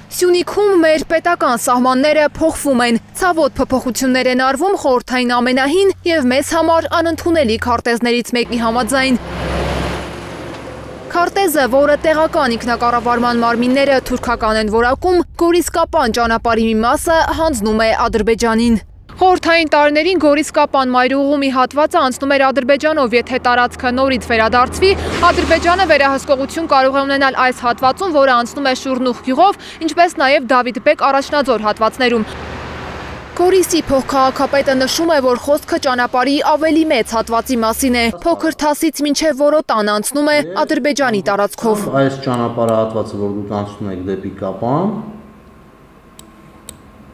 Սյունիքում մեր պետական սահմանները փոխվում են, ցավոտ փոփոխություններ են արվում խորհրդային ամենահին եւ մեզ համար անընդունելի քարտեզներից մեկի համաձայն։ Քարտեզը, որը տեղական ինքնակառավարման մարմինները թուրքական են որակում, Գորիսկապան ճանապարհի մի մասը հանձնում է Ադրբեջանին։ Խորհրդային տարիներին Գորիսկապան մայրուղու մի հատվածը անցնում էր Ադրբեջանով, եթե տարածքը նորից վերադարձվի, Ադրբեջանը վերահսկողություն կարող է ունենալ այս հատվածում, որը անցնում է Շուրնուխ գյուղով, ինչպես նաև Դավիթ-բեկ առաջնաձոր հատվածներում։ Գորիսի փոխքաղաքապետը նշում է, որ խոսքը ճանապարհի ավելի մեծ հատվածի մասին է, փոքր Թասից մինչև Որոտան անցնում է Ադրբեջանի տարածքով։ Այս ճանապարհահատվածը, որ դուք անցնում եք դեպի Կապան,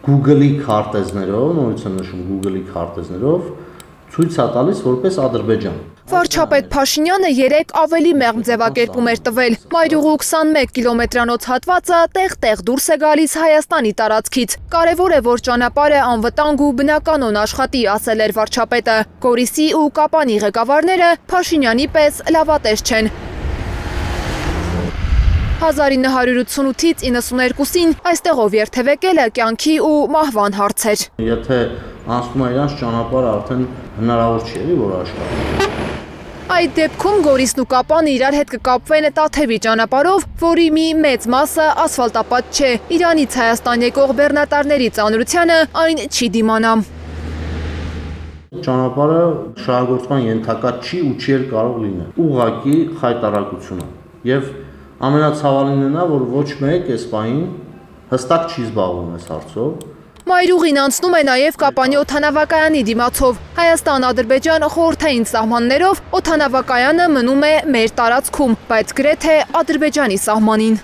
Google-ի քարտեզներով, նորից եմ նշում Google-ի քարտեզներով, ցույց է տալիս որպես Ադրբեջան։ Վարչապետ Փաշինյանը երեկ ավելի մեղմ ձևակերպում էր տվել։ Մայրուղու 21 կիլոմետրանոց հատվածը տեղ-տեղ դուրս է գալիս Հայաստանի տարածքից։ Կարևոր է, որ ճանապարհը անվտանգ ու բնականon աշխատի, ասել էր վարչապետը։ Գորիսի ու Կապանի ղեկավարները Փաշինյանի պես լավատես չեն։ 1988-ից 92-ին այստեղով երթևեկելը կյանքի ու մահվան հարց էր։ Եթե անցնում է իրանց ճանապարհը, արդեն հնարավոր չի էլի որ աշխատի։ Այդ դեպքում Գորիսն ու Կապանը իրար հետ կկապվեն Տաթևի ճանապարհով, որի մի մեծ մասը ասֆալտապատ չէ։ Իրանից Հայաստան եկող բեռնատարների ծանրությանը այն չի դիմանա։ Ճանապարհը շահագործման ենթակա չի ու չի կարող լինել։ Ուղղակի խայտարակությունը եւ ամենացավալին է նա, որ ոչ մեկ այս պահին հստակ չի զբաղվում այս հարցով։ Մայրուղին անցնում է նաև Կապանի օդանավակայանի դիմացով։ Հայաստան-Ադրբեջան խորհրդային սահմաններով օդանավակայանը մնում է մեր տարածքում, բայց գրեթե Ադրբեջանի սահմանին։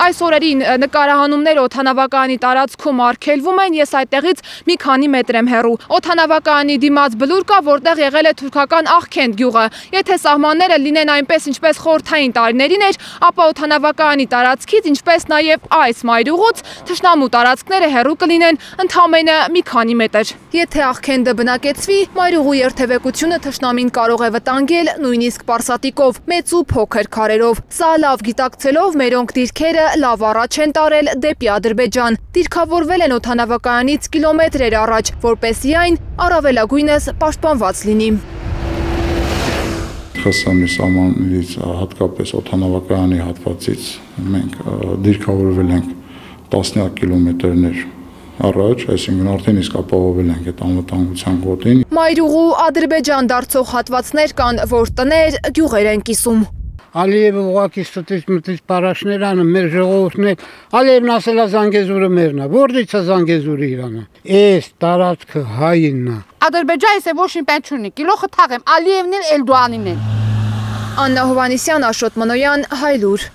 Այս օրերին նկարահանումներ օդանավակայանի տարածքում արգելվում են, ես այդտեղից մի քանի մետր եմ հեռու։ Օդանավակայանի դիմաց բլուր կա, որտեղ եղել է թուրքական Աղքենդ գյուղը։ Եթե սահմանները լինեն այնպես, ինչպես խորհրդային տարիներին էր, ապա օդանավակայանի տարածքից, ինչպես նաև այս մայրուղուց, թշնամու տարածքները հեռու կլինեն ընդամենը մի քանի մետր։ Եթե Աղքենդը բնակեցվի, մայրուղու երթևեկությունը թշնամին կարող է վտանգել նույնիսկ պարսատիկով, մեծ ու փոքր քարերով։ Սա լավ գիտակցելով մերոնք դիրքերը լավ առաջ են տարել դեպի Ադրբեջան, դիրքավորվել են օդանավակայանից կիլոմետրեր առաջ, որպեսզի այն առավելագույնս պաշտպանված լինի։ ԽՍՀՄ սահմաններից հատկապես օդանավակայանի հատվածից մենք դիրքավորվել ենք տասնյակ կիլոմետրներ առաջ, այսինքն արդեն իսկ ապահովել ենք այդ անվտանգության գոտին։ Մայրուղու Ադրբեջան դարձող հատվածներ կան, որ տներ, գյուղեր են կիսում։ Ալիևը ուղղակի ստից մտից պարաշներ անում, մեր ժողովուրդն է, Ալիևն ասել է Զանգեզուրը մերն է, որից է Զանգեզուրը Իրանը։ Էս տարածքը հայինն է։ Ադրբեջանը se ոչ մի պետք չունի, գլուխը թաղեմ, Ալիևն էլ Էլդոանին էլ։ Աննա Հովանեսյան, Աշոտ Մանոյան, Հայլուր։